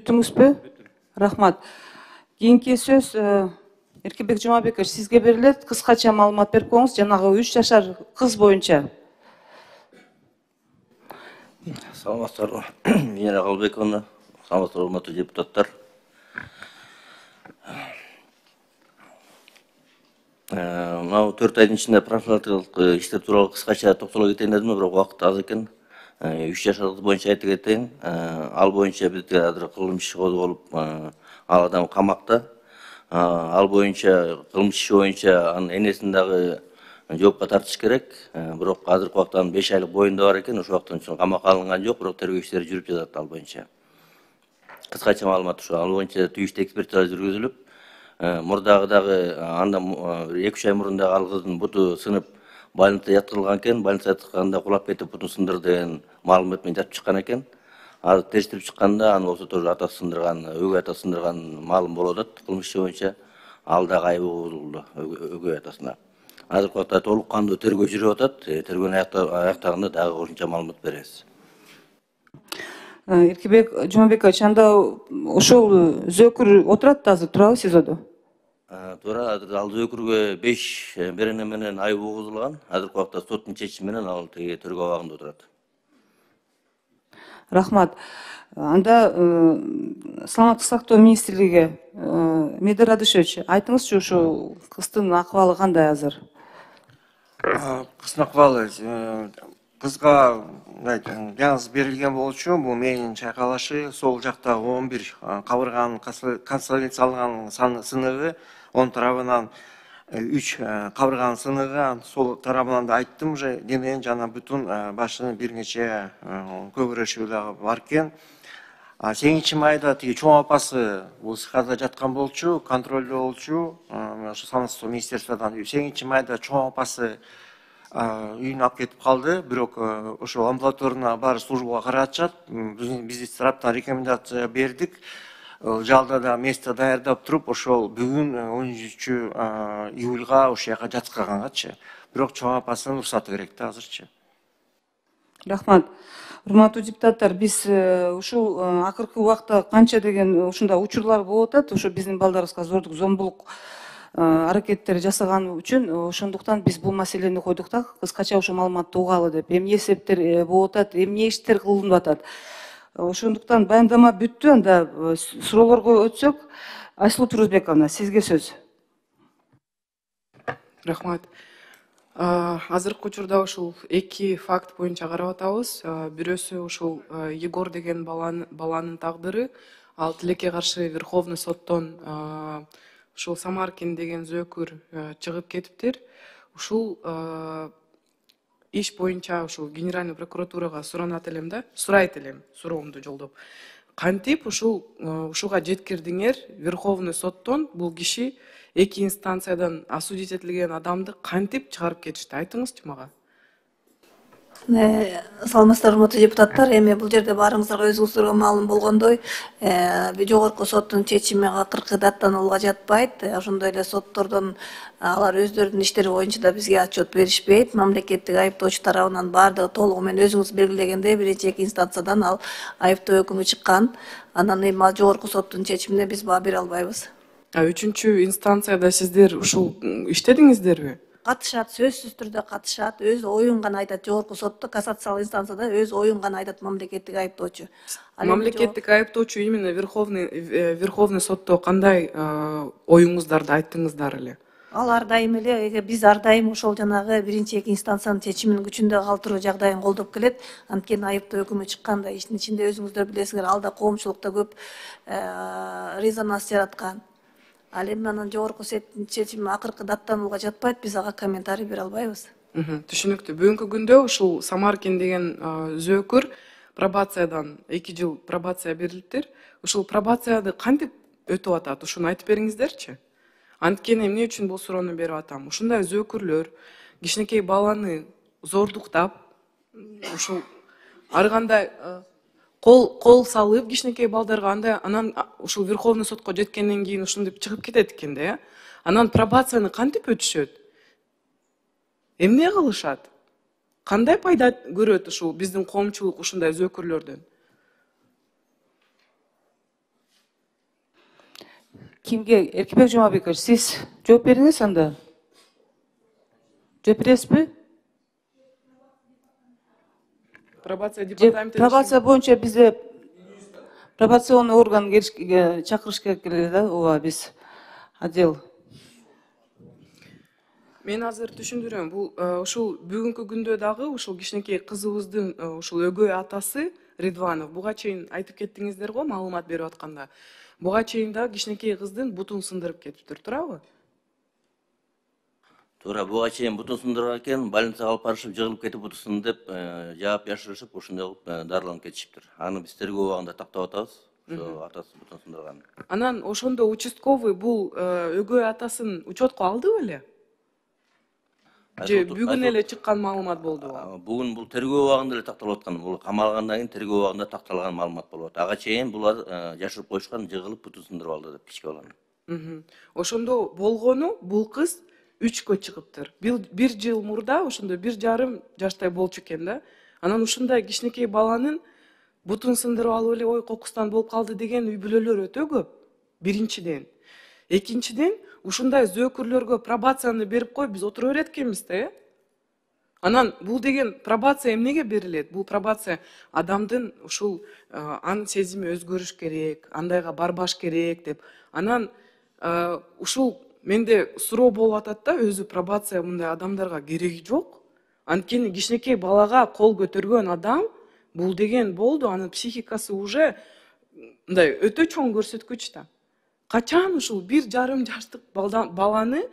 бүттүңүзбү? Рахмат. Кийинки сөз Эркебек Жумабекович сизге берилет. Кыскача маалымат берип коюңуз жанагы 3 жашар кыз боюнча. Саламатсыздарбы, Венера Калбековна, саламатсыздар урматтуу депутаттар. Мына 4 айдын ичинде профилактикалык иштер тууралуу кыскача токтоло кетейин дедим, бирок убакыт аз экен. 3 жашар кыз боюнча айтып кетейин. Ал боюнча бизде азыр кылмыш иши козголуп, ал адам камакта. Ал боюнча кылмыш иши боюнча анын энесин дагы жоопко тартыш керек. Бирок азыркы убакта анын 5 айлык боюнда бар экен, ошол убакыттан чоң камакка алынган жок, бирок тергөө иштери жүрүп жатат ал боюнча. Кыскача маалымат ушул. Ал боюнча түйүштүү экспертиза жүргүзүлүп, мурдагы дагы анда 2-3 ай мурун дагы ал кыздын буту сынып больницага жаткырылган экен. Больницага жаткырганда кулап кетип бутун сындырды деген маалымат менен жатып чыккан экен. Азыр териштирип чыкканда аны болсо тоже атасы сындырган, өгөй атасы сындырган маалым болуп атат кылмыш иши боюнча. Ал дагы айыбы угулду өгөй атасына. Азыркы убакта толук кандуу тергөө жүрүп атат. Тергөөнү аяктаганда дагы кошумча маалымат беребиз. Эркебек Жумабекович, анда ошол зөөкүр отурат да азыр, турабы СИЗОдо? Туура, ал зөөкүргө 5 берене менен айып угузулган. Азыркы убакта соттун чечими менен ал тергөө абагында отурат. Рахмат. Анда саламаттык сактоо министрлиги Медер Радышевич, айтыңызчы, ушу кыздын акыбалы кандай азыр? Кыздын акыбалы кызга жаңыз берилген болчу, бул мээнин чайкалышы, сол жакта 11 кабырганын консолидацияланган сыныгы, он тарабынан 3 кабырганын сыныгы, сол тарабынан да айттым уже, дененин жана бүтүн башынын бир нече көгөрөшү дагы бар экен. 8-майда тиги чоң апасы бул СКда жаткан болчу, контролдо болчу, ошо Саламаттык министерстводон 8-майда чоң апасы үйүнө алып кетип калды, бирок ошо амбулаторуна баары службага каратышат. Биз тараптан рекомендация бердик. Жалда да место даярдап туруп, ошол бүгүн 13 июлга ошол жака жаткыргангачы. Бирок чоң апасынын уруксаты керек да азырчы. Рахмат. Урматтуу депутаттар, биз ушул акыркы убакта канча деген ушундай учурлар болуп атат, ошо биздин балдарыбызга зордук, зомбулук аракеттер жасаган үчүн, ошондуктан биз бул маселени койдук да, кыскача ошо маалыматты угалы деп. Эмне себептер болуп атат, эмне иштер кылынып атат. Ошондуктан баяндама бүттү, анда суроолорго өтсөк, Айсулуу Турузбековна, сизге сөз. Рахмат. Азыркы учурда ушул 2 факт боюнча карап атабыз. Бирөөсү ушул Егор деген баланын тагдыры, ал тилекке каршы Верховный соттон ушул Самаркин деген зөөкүр чыгып кетиптир. Ушул иш боюнча ушул Генеральный прокуратурага суранат элем да, сурайт элем, суроомду жолдоп. Кантип ушуга жеткирдиңер? Верховный соттон бул киши 2 инстанциядан осудить этилген адамды кантип чыгарып кетишти? Айтыңызчы мага. Саламатсыздар, урматтуу депутаттар. Эми бул жерде баарыңыздарга өзүңүздөргө маалым болгондой, жогорку соттун чечими акыркы даттанууга жатпайт. Ошондой эле соттордон алар өздөрүнүн иштери боюнча да бизге отчет беришпейт. Мамлекеттик айыптоочу тарабынан баардыгы толугу менен өзүңүз белгилегендей, биринчи 2 инстанциядан ал айыптоо өкүмү чыккан. Анан эми ал жогорку соттун чечимине биз баа бере албайбыз. 3-чү инстанцияда сиздер ушул иштедиңиздерби? Катышат, сөзсүз түрдө катышат, өз оюн гана айтат. Жогорку сотто, кассациялык инстанцияда өз оюн гана айтат мамлекеттик айыптоочу. Мамлекеттик айыптоочу именно Верховный сотто кандай оюңуздарды айттыңыздар эле? Ал ар дайым эле, биз ар дайым ошол жанагы биринчи 2 инстанциянын чечиминин күчүндө калтыруу жагдайын колдоп келет. Анткени айыптоо өкүмү чыкканда иштин ичинде өзүңүздөр билесиңер, ал да коомчулукта көп резонанс жараткан. Ал эми анан жогорку соттун чечими акыркы даттанууга жатпайт, биз ага комментарий бере албайбыз. Түшүнүктүү. Бүгүнкү күндө ушул Самаркин деген зөөкүр пробациядан 2 жыл пробация берилиптир. Ушул пробацияды кантип өтүп атат? Ушуну айтып бериңиздерчи. Анткени эмне үчүн бул суроону берип атам? Ушундай зөөкүрлөр кичинекей баланы зордуктап, ушул ар кандай кол салып кичинекей балдарга, андай анан ушул Верховный сотко жеткенден кийин ушинтип чыгып кетет экен да. Анан пробацияны кантип өтүшөт? Эмне кылышат? Кандай пайда көрөт ушул биздин коомчулук ушундай зөөкүрлөрдөн? Кимге? Эркебек Жумабекович, сиз жооп бериңиз анда. Жооп бересизби? Пробация департаменти. Пробация боюнча бизде пробационный орган чакырыш керек эле да, ооба, биз отдел. Мен азыр түшүндүрөм. Бул ушул бүгүнкү күндө дагы ушул кичинекей кызыбыздын ушул өгөй атасы Ридванов, буга чейин айтып кеттиңиздер го, маалымат берип атканда. Буга чейин да кичинекей кыздын бутун сындырып кетиптир, туурабы? Туура, буга чейин бутун сындырган экен, больницага алып барышып, жыгылып кетип бутун деп жаап жашырышып, ушундай кылып дарыланып кетишиптир. Аны биз тергөө убагында тактап атабыз. Ошо атасы бутун сындырган. Анан ошондо участковый бул өгөй атасын учетко алды беле? Же бүгүн эле чыккан маалымат болдубу? Бүгүн бул тергөө убагында эле такталып аткан. Бул камалгандан кийин тергөө убагында такталган маалымат болуп атат. Ага чейин булар жашырып коюшкан, жыгылып бутун сындырып алды деп кичке баланы. Ошондо болгону бул кыз 3кө чыгыптыр. 1 жыл мурда ошондо 1,5 жаштай болчу экен да. Анан ушундай кичинекей баланын бутун сындырып алып эле ой кокустан болуп калды деген үй бүлөлөр өтө көп. Биринчиден. Экинчиден, ушундай зөөкүрлөргө пробацияны берип кой, биз отура берет экенбиз да, Анан бул деген пробация эмнеге берилет? Бул пробация адамдын ушул анын сезими өзгөрүш керек, андайга барбаш керек деп. Анан ушул менде суроо болуп атат да, өзү пробация мындай адамдарга кереги жок. Анткени кичинекей балага кол көтөргөн адам бул деген болду, анын психикасы уже мындай өтө чоң көрсөткүч да. Качан ушул 1,5 жаштык баланы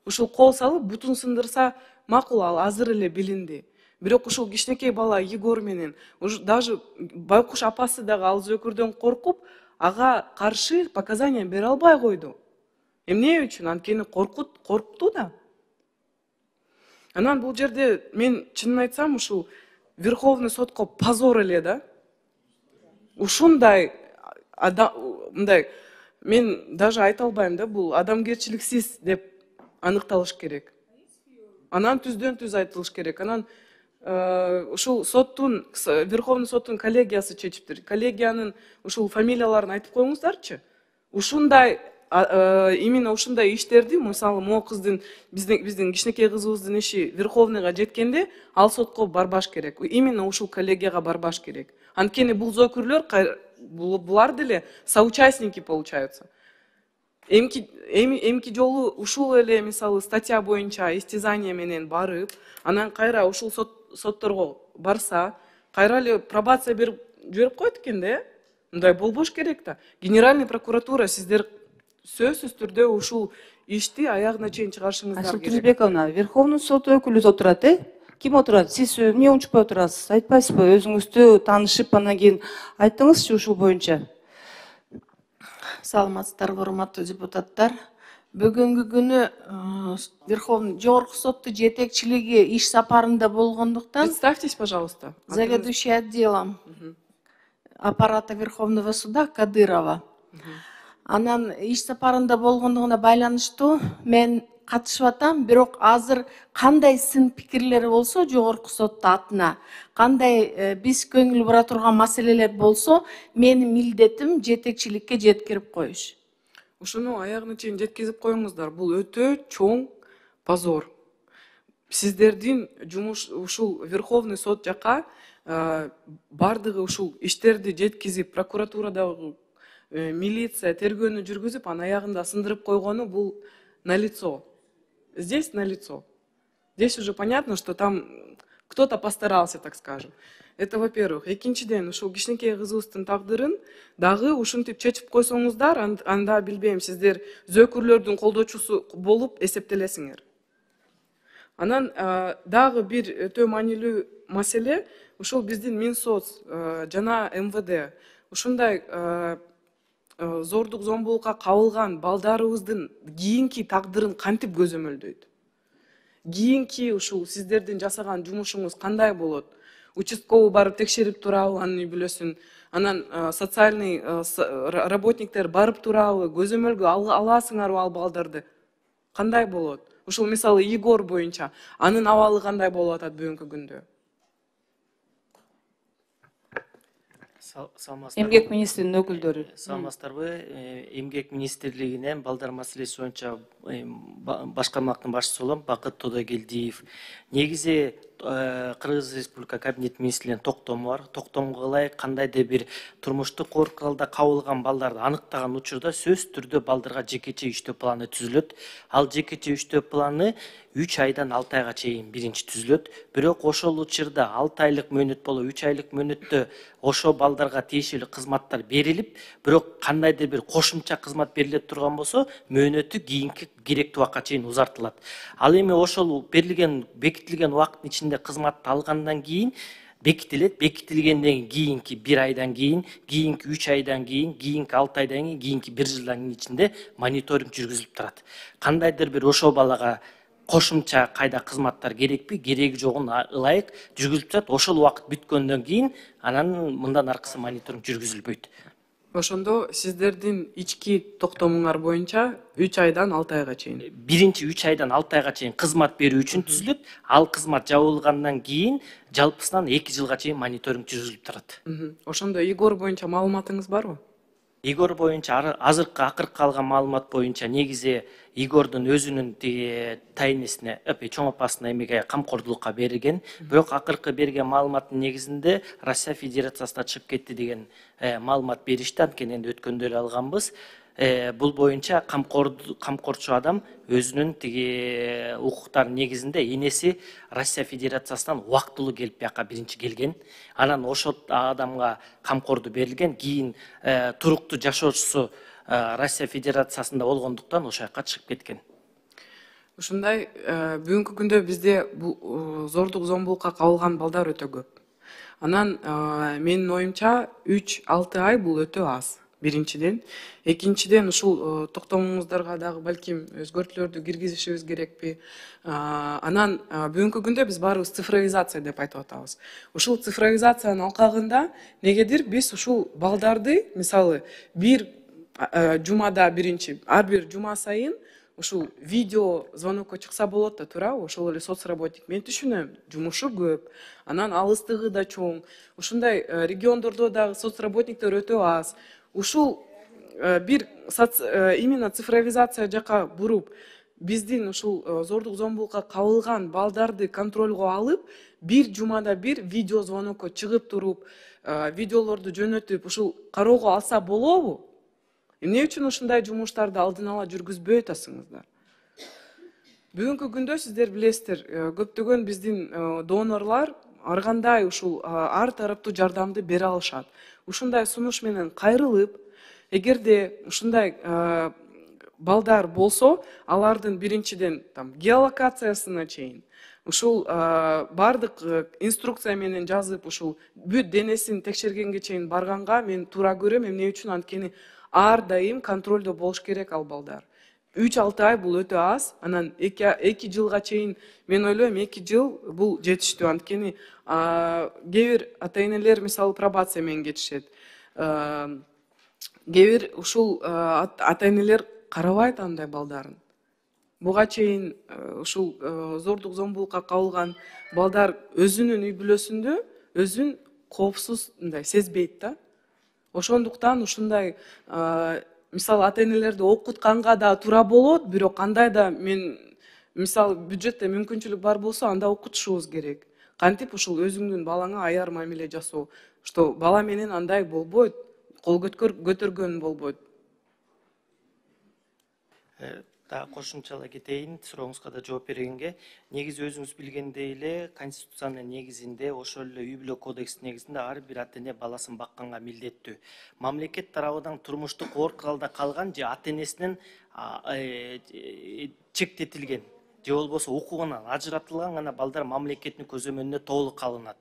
ушул кол салып бутун сындырса макул, ал азыр эле билинди. Бирок ушул кичинекей бала Егор менен даже байкуш апасы дагы ал зөөкүрдөн коркуп, ага каршы показания бере албай койду. Эмне үчүн? Анткени коркту да. Анан бул жерде мен чынын айтсам ушул Верховный сотко позор эле да. Ушундай мындай мен даже айта албайм да, бул адамгерчиликсиз деп аныкталыш керек. Анан түздөн түз айтылыш керек. Анан ушул соттун, Верховный соттун коллегиясы чечиптир. Коллегиянын ушул фамилияларын айтып коюңуздарчы. Ушундай именно ушундай иштерди, мисалы, могу кыздын биздин кичинекей кызыбыздын иши Верховныйга жеткенде, ал сотко барбаш керек. Именно ушул коллегияга барбаш керек. Анткени бул зөөкүрлөр булар деле соучастники получаются. Эмки жолу ушул эле мисалы статья боюнча истязание менен барып, анан кайра ушул сотторго барса, кайра эле пробация берип жиберип коет экен да. Мындай болбош керек да. Генеральный прокуратура сиздер сөзсүз түрдө ушул ишти аягына чейин чыгарышыңыздар керек. Айсултан Туризбековна, Верховный сот өкүлү отурат, Ким отурат? Сиз эмне унчукпай отурасыз? Айтпайсызбы? Өзүңүздү таанышып, анан кийин айттыңызчы ушул боюнча. Саламатсыздарбы, урматтуу депутаттар. Бүгүнкү күнү Верховный жогорку соттун жетекчилиги иш сапарында болгондуктан, Представьтесь, пожалуйста. заведующий отделом аппарата Верховного суда Кадырова. Анан иш сапарында болгондугуна байланыштуу мен катышып атам, бирок азыр кандай сын пикирлери болсо жогорку соттун атына, кандай биз көңүл бура турган маселелер болсо, менин милдетим жетекчиликке жеткирип коюш. Ушуну аягына чейин жеткизип коюңуздар. Бул өтө чоң позор. Сиздердин жумуш ушул Верховный сот жака бардыгы ушул иштерди жеткизип, прокуратурадагы милиция тергөөнү жүргүзүп, анын аягында сындырып койгону бул налицо. Здесь налицо. Здесь уже понятно, что там кто-то постарался, так скажем. Это во-первых. Экинчиден, ушул кичинекей кызыбыздын тагдырын дагы ушинтип чечип койсоңуздар, анда билбейм, сиздер зөөкүрлөрдүн колдоочусу болуп эсептелесиңер. Анан дагы бир өтө маанилүү маселе, ушул биздин Минсоц жана МВД ушундай зордук зомбулукка кабылган балдарыбыздын кийинки тагдырын кантип көзөмөлдөйт? Кийинки ушул сиздердин жасаган жумушуңуз кандай болот? Участковый барып текшерип турабы анын үй бүлөсүн? Анан социальный работниктер барып турабы? Көзөмөлгө аласыңарбы ал балдарды? Кандай болот? Ушул мисалы Егор боюнча анын абалы кандай болуп атат бүгүнкү күндө? Саламатсыздарбы. эмгек министринин өкүлдөрү. Саламатсыздарбы. Эмгек министрлигинен балдар маселеси боюнча башкармактын башчысы болом, Бакыт Тодогелдиев. Негизи Кыргыз Республика Кабинет министрлигинин токтому бар. Токтомго ылайык кандайдыр бир турмуштук оркалда кабылган балдарды аныктаган учурда сөзсүз түрдө балдарга жекече иштөө планы түзүлөт. Ал жекече иштөө планы 3 айдан 6 айга чейин биринчи түзүлөт. Бирок ошол учурда 6 айлык мөөнөт болуп, 3 айлык мөөнөттө ошо балдарга тиешелүү кызматтар берилип, бирок кандайдыр бир кошумча кызмат бериле турган болсо, мөөнөтү кийинки керектүү убакка чейин узартылат. Ал эми ошол берилген, бекитилген убакыттын ичинде кызматты алгандан кийин бекитилет. Бекитилгенден кийинки 1 айдан кийин, кийинки 3 айдан кийин, кийинки 6 айдан кийин, кийинки 1 жылдын ичинде мониторинг жүргүзүлүп турат. Кандайдыр бир ошол балага кошумча кайда кызматтар керекпи, кереги жогун ылайык жүргүзүлүп турат. Ошол убакыт бүткөндөн кийин анан мындан аркысы мониторинг жүргүзүлбөйт. Ошондо сиздердин ички токтомуңар боюнча 3 айдан 6 айга чейин. Биринчи 3 айдан 6 айга чейин кызмат берүү үчүн түзүлөт. Ал кызмат жабылгандан кийин жалпысынан 2 жылга чейин мониторинг жүргүзүлүп турат. Ошондо Игор боюнча маалыматыңыз барбы? Игор боюнча азыркы акыркы алган маалымат боюнча негизи Игордун өзүнүн тайнесине, чоң апасына эмеге камкордулукка берилген. Бирок акыркы берген маалыматтын негизинде Россия Федерациясына чыгып кетти деген маалымат беришти. Анткени энди өткөндө эле алганбыз. Бул боюнча камкорчу адам өзүнүн укуктарынын негизинде энеси Россия Федерациясынан убактылуу келип бияка биринчи келген. Анан ошол адамга камкордуу берилген. Кийин туруктуу жашоочусу Россия Федерациясында болгондуктан ошол жака чыгып кеткен. Ушундай бүгүнкү күндө бизде бул зордук зомбулукка кабылган балдар өтө көп. Анан менин оюмча 3-6 ай бул өтө аз. Биринчиден, экинчиден ушул токтомуңуздарга дагы балким өзгөртүүлөрдү киргизишибиз керекпи? Анан бүгүнкү күндө биз баарыбыз цифровизация деп айтып атабыз. Ушул цифровизациянын алкагында негедир биз ушул балдарды, мисалы, бир жумада биринчи, ар бир жума сайын ушул видео звонокко чыкса болот да, туурабы? Ошол эле соцработник. Мен түшүнөм, жумушу көп, анан алыстыгы да чоң. Ушундай региондордо дагы соцработниктер өтө аз. Ушул бир именно цифровизация жака буруп, биздин ушул зордук зомбулукка кабылган балдарды контролго алып, бир жумада бир видео звонокко чыгып туруп, видеолорду жөнөтүп, ушул кароого алса болобу? Эмне үчүн ушундай жумуштарды алдын ала жүргүзбөй атасыңыздар? Бүгүнкү күндө сиздер билесиздер, көптөгөн биздин донорлор ар кандай ушул ар тараптуу жардамды бере алышат. Ушундай сунуш менен кайрылып, эгерде ушундай балдар болсо, алардын биринчиден геолокациясына чейин, ушул бардык инструкция менен жазып, ушул бүт денесин текшергенге чейин барганга мен туура көрөм. Эмне үчүн? Анткени ар дайым контролдо болуш керек ал балдар. 3-6 ай бул өтө аз. Анан 2 жылга чейин мен ойлойм, 2 жыл бул жетиштүү. Анткени кээ бир ата-энелер мисалы пробация менен кетишет. Кээ бир ушул ата-энелер карабайт андай балдарын. Буга чейин ушул зордук зомбулукка кабылган балдар өзүнүн үй бүлөсүндө өзүн коопсуз сезбейт да. Ошондуктан ушундай мисалы ата-энелерди окутканга да туура болот, бирок кандай да мен мисалы бюджетте мүмкүнчүлүк бар болсо, анда окутушубуз керек. Кантип ушул өзүңдүн балаңа аяр мамиле жасоо, что бала менен андай болбойт, кол көтөргөн болбойт. Дагы кошумчалай кетейин, сурооңузга да жооп бергенге. Негизи өзүңүз билгендей эле Конституциянын негизинде, ошол эле үй бүлө кодексинин негизинде ар бир ата-эне баласын бакканга милдеттүү. Мамлекет тарабынан турмуштук оор куралда калган же ата-энесинен чектетилген же болбосо укугунан ажыратылган гана балдар мамлекеттин көзөмөлүнө толук алынат.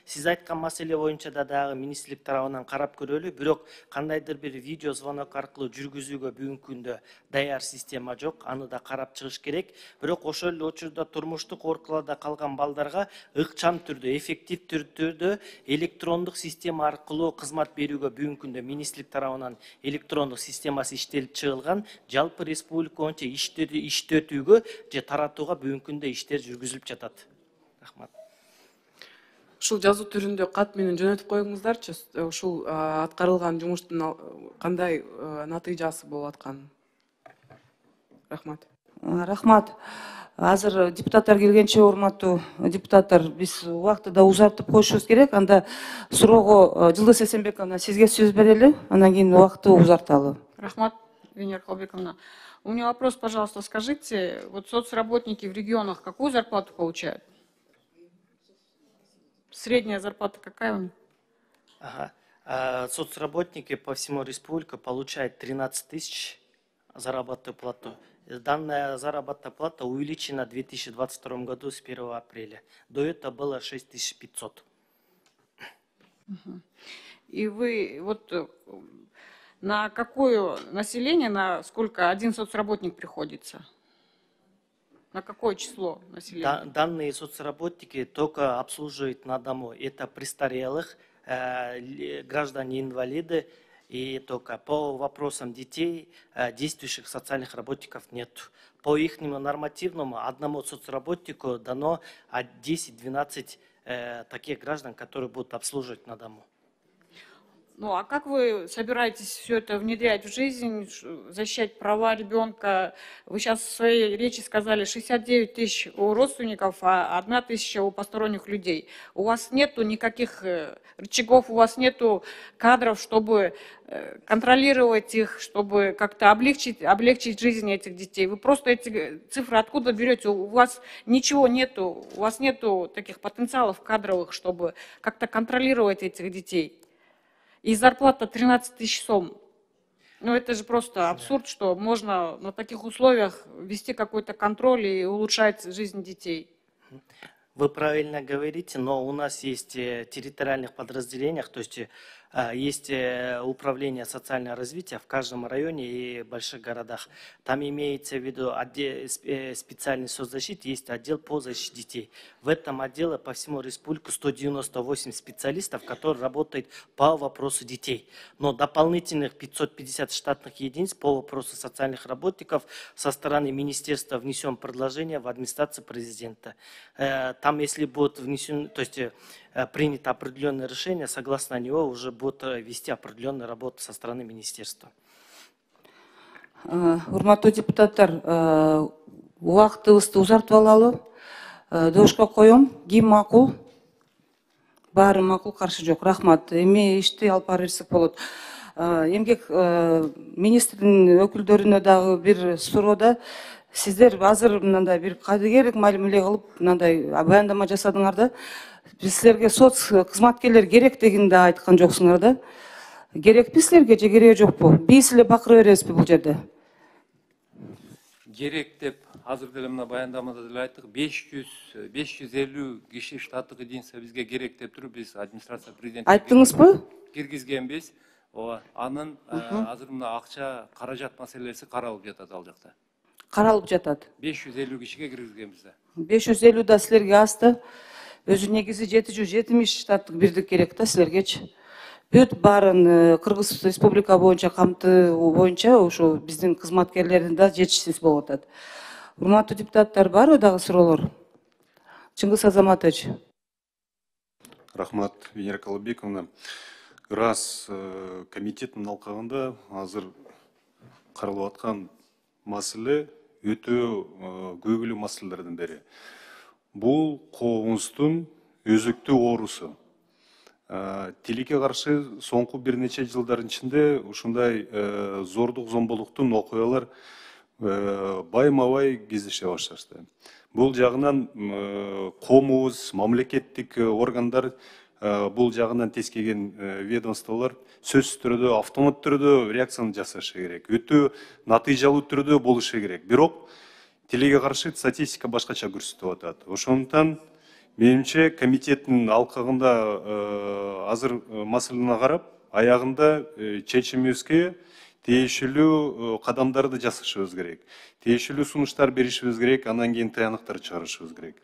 Сиз айткан маселе боюнча да дагы министрлик тарабынан карап көрөлү, бирок кандайдыр бир видео звонок аркылуу жүргүзүүгө бүгүнкү күндө даяр система жок, аны да карап чыгыш керек. Бирок ошол эле учурда турмуштук оор калган балдарга ыкчам түрдө, эффективдүү түрдө электрондук система аркылуу кызмат берүүгө бүгүнкү күндө министрлик тарабынан электрондук системасы иштелип чыгылган. Жалпы республика боюнча иштетүүгө же таратууга бүгүнкү күндө иштер жүргүзүлүп жатат. Рахмат. ушул жазуу түрүндө кат менен жөнөтүп коюңуздарчы, ушул аткарылган жумуштун кандай натыйжасы болуп атканын. Рахмат. Рахмат. Азыр депутаттар келгенче, урматтуу депутаттар, биз убактыда узартып коюшубуз керек. Анда суроого Жылдыз Эсенбековна сизге сөз берели, андан кийин убакытты узарталы. Рахмат, Венера Калбековна. У меня вопрос, пожалуйста, скажите, вот соцработники в регионах какую зарплату получают? Средняя зарплата какая у них? Ага. Соцработники по всему республике получают 13 тысяч заработную плату. Данная заработная плата увеличена в 2022 году с 1 апреля. До этого было 6500. И вы вот на какое население, на сколько один соцработник приходится? На какое число населения? Данные соцработники только обслуживают на дому. Это престарелых, граждане-инвалиды. И только по вопросам детей действующих социальных работников нет. По их нормативному одному соцработнику дано 10-12 таких граждан, которые будут обслуживать на дому. Ну а как вы собираетесь все это внедрять в жизнь, защищать права ребенка? Вы сейчас в своей речи сказали 69 тысяч у родственников, а 1 тысяча у посторонних людей. У вас нету никаких рычагов, у вас нету кадров, чтобы контролировать их, чтобы как-то облегчить жизнь этих детей. Вы просто эти цифры откуда берете? У вас ничего нету, у вас нету таких потенциалов кадровых, чтобы как-то контролировать этих детей. И зарплата 13 тысяч сом. Ну, это же просто абсурд, что можно на таких условиях вести какой-то контроль и улучшать жизнь детей. Вы правильно говорите, но у нас есть территориальных подразделениях, то есть есть управление социального развития в каждом районе и больших городах. Там имеется в виду специальный соцзащиты, есть отдел по защите детей. В этом отделе по всему республике 198 специалистов, которые работают по вопросу детей. Но дополнительных 550 штатных единиц по вопросу социальных работников со стороны министерства внесем предложение в администрацию президента. Там, если будет внесен, то есть принято определенное решение, согласно него уже будет вести определенную работу со стороны министерства. Урматтуу депутаттар, убактыбызды узартып алалы. Добушка коем. Ким макул? Баары макул, каршы жок. Рахмат. Эми ишти алып бара берсек болот. Эмгек министрдин өкүлдөрүнө дагы бир суроодо, сиздер азыр мындай бир кадыгер мамиле кылып мындай баяндама жасадыңар да. Биз силерге соц кызматкерлер керек дегенди айткан жоксуңар да. Керекпи силерге же кереги жокпу? Биз эле бакыра беребизби бул жерде? Керек деп азыр деле мына баяндамада деле айттык, 550 киши штаттык единица бизге керек деп туруп биз администрация президент Айттыңызбы? киргизгенбиз. Ооба, анын азыр мына акча каражат маселеси каралып жатат ал жакта. Каралып жатат. 550 кишиге киргизгенбиз да. 550 да силерге азды. Өзү негизи 770 штаттык бирдик керек да силергечи. Бүт баарын Кыргыз Республика боюнча камтуу боюнча ушу биздин кызматкерлердин да жетишсиз болуп атат. Урматтуу депутаттар, барбы дагы суроолор? Чыңгыз Азаматович. Рахмат, Венера Калбековна. Раз комитеттин алкагында азыр каралып аткан маселе өтө көйгүлүү маселелердин бири. Бул коомубуздун өзөктүү оорусу. Тилекке каршы соңку бир нече жылдардын ичинде ушундай зордук зомбулуктун окуялар байма-бай кездеше башташты. Бул жагынан коомубуз, мамлекеттик органдар, бул жагынан тескеген ведомстволор сөзсүз түрдө, автомат түрдө реакцияны жасашы керек. Өтө натыйжалуу түрдө болушу керек. Бирок тилекке каршы статистика башкача көрсөтүп атат. Ошондуктан менимче комитеттин алкагында азыр маселени карап, аягында чечимибизге тиешелүү кадамдарды жасашыбыз керек. Тиешелүү сунуштар беришибиз керек, андан кийин тыянактар чыгарышыбыз керек.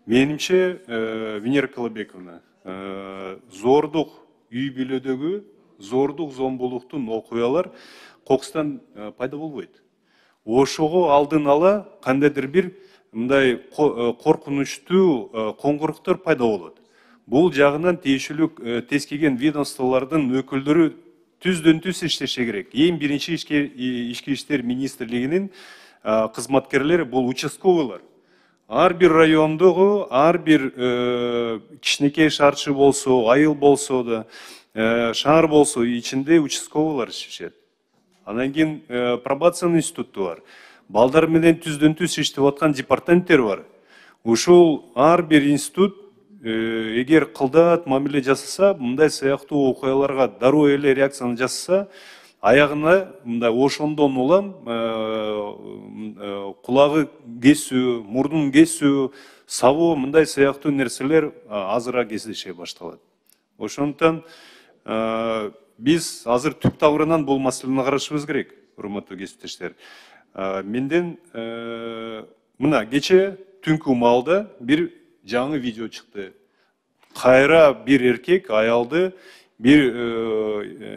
Менимче, Венера Калбековна, зордук үй бүлөдөгү зордук зомбулуктун окуялар кокустан пайда болбойт. Ошого алдын ала кандайдыр бир мындай коркунучтуу коңгуруктор пайда болот. бул жагынан тиешелүү тез келген ведомстволордун өкүлдөрү түздөн түз иштеше керек. Эң биринчи ички иштер министрлигинин кызматкерлери бул участковыйлар. Ар бир райондогу, ар бир кичинекей шаарчы болсо, айыл болсо да, шаар болсо ичинде участковыйлар иштешет. Анан кийин пробация институту бар. Балдар менен түздөн түз иштеп аткан департаменттер бар. Ушул ар бир институт эгер кылдат мамиле жасаса, мындай сыяктуу окуяларга дароо эле реакцияны жасаса, аягына мындай ошондон улам кулагы кесүү, мурдун кесүү, сабоо мындай сыяктуу нерселер азыраак кездеше башталат. Ошондуктан биз азыр түп табырынан бул маселени карашыбыз керек, урматтуу кесиптештер. Менден мына кече түнкү маалда бир жаңы видео чыкты. Кайра бир эркек аялды бир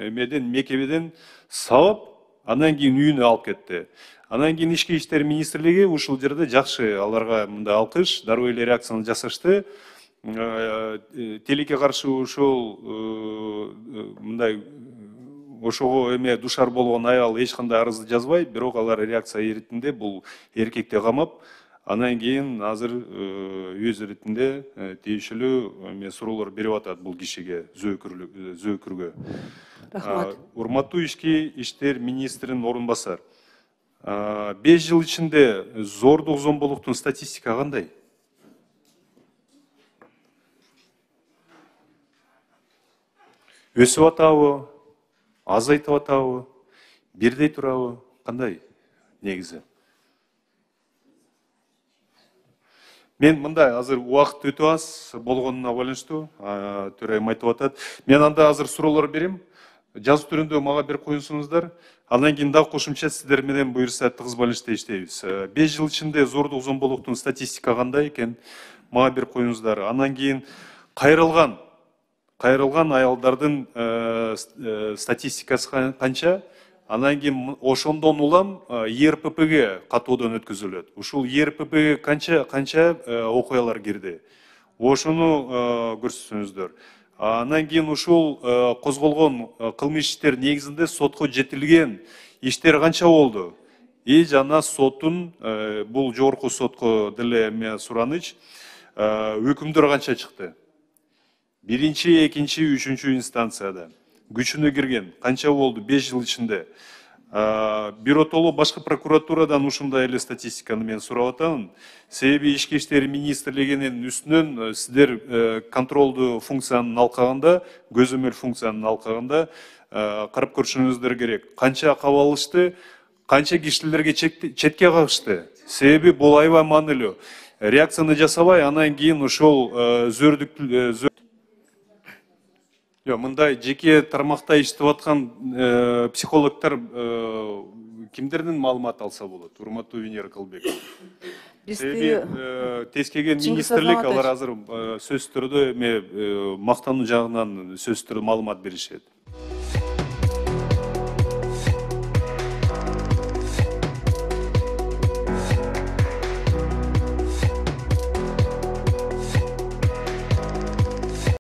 эмеден мекемеден сабап, андан кийин үйүнө алып кетти. Андан кийин ички иштер министрлиги ушул жерде жакшы, аларга мындай алкыш, дароо эле реакцияны жасашты. Телекке каршы ошол мындай ошого эме душар болгон аял эч кандай арызды жазбай, бирок алар реакция иретинде бул эркекти камап, андан кийин азыр өз иретинде тиешелүү эме суроолор берип атат бул кишиге, зөөкүргө. Рахмат. Урматтуу ички иштер министринин орун басар. 5 жыл ичинде зордук зомбулуктун статистика кандай? Өсүп атабы, азайтып атабы, бирдей турабы, кандай негизи? Мен мындай азыр убакыт өтө аз болгонуна байланыштуу, төрайым айтып атат. Мен анда азыр суроолор берем. Жазуу түрүндө мага бир коюңуздар. Андан кийин дагы кошумча сиздер менен буюрса тыгыз байланышта иштейбиз. 5 жыл ичинде зордук зомбулуктун статистика кандай экен? Мага бир коюңуздар. Андан кийин кайрылган аялдардын статистикасы канча? Андан кийин ошондон улам ЕРППге катуудан өткөзүлөт. Ушул ЕРППге канча окуялар кирди? Ошону көрсөтсөңүздөр. Андан кийин ушул козголгон кылмыш иштер негизинде сотко жетилген иштер канча болду? Жана соттун бул жогорку сотко деле эме сураныч, өкүмдөр канча чыкты? Биринчи, экинчи, үчүнчү инстанцияда күчүнө кирген канча болду 5 жыл ичинде? Биротоло башкы прокуратурадан ушундай эле статистиканы мен сурап атам. Себеби ички иштер министрлигинин үстүнөн сиздер контролдуу функцияны алкаганда, көзөмөл функцияны алкаганда карап көрүшүңүздөр керек. Канча кабалышты, канча кишилерге четке кагышты? Себеби бул аябай маанилүү. Реакцияны жасабай, андан кийин ошол мындай жеке тармакта иштеп аткан психологдор кимдердин маалымат алса болот? Урматтуу Венера Кылбек. Себеби тез келген министрлик алар азыр сөз түрдө эме мактануу жагынан сөз түрдө маалымат беришет.